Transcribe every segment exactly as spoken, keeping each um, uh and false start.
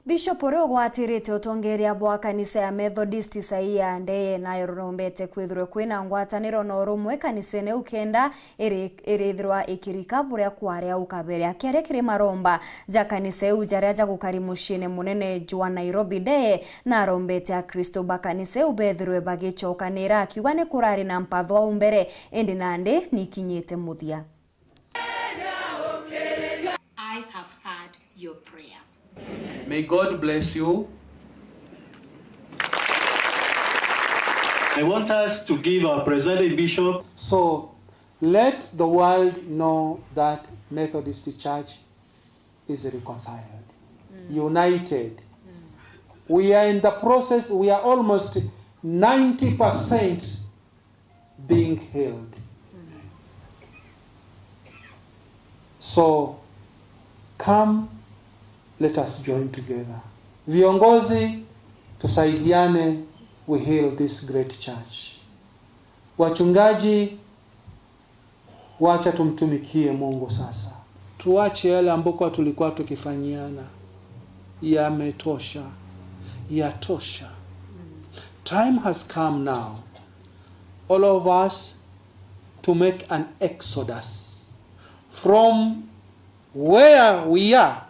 Bishop uria ugwatirite utongeria bwa kanisa ya Methodist Isaia Ndeye nayo rurombete kwithirwe kwina ngwataniro na urumwe kanisene u kenda iri-, irithirwa ikirika buria kwari au kabere. Akiaria kiri maromba ja kanisa iu jaria jagukari muciine munene jwa Nairobi, Ndeye narombete Akristo ba kanisa iu bethirwe bagicokanira, akiuga ni kurari na mpatho au mbere, indi nandi nikinyite muthia. I have heard your prayer. May God bless you. I want us to give our presiding bishop. So let the world know that Methodist Church is reconciled, united. We are in the process, we are almost ninety percent being healed. So, come, let us join together. Viongozi, tusaidiane, we heal this great church. Wachungaji, wacha tumtumikie Mungu sasa. Tuache yale ambayo tulikuwa tukifanyiana. Yametosha. Yatosha. Time has come now, all of us to make an exodus from where we are,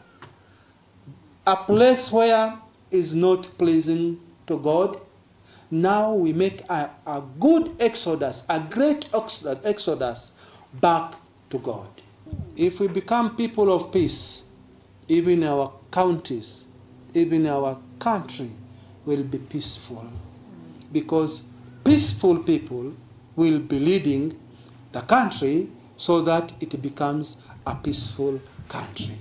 a place where is not pleasing to God. Now we make a, a good exodus, a great exodus, exodus back to God. If we become people of peace, even our counties, even our country will be peaceful, because peaceful people will be leading the country so that it becomes a peaceful country.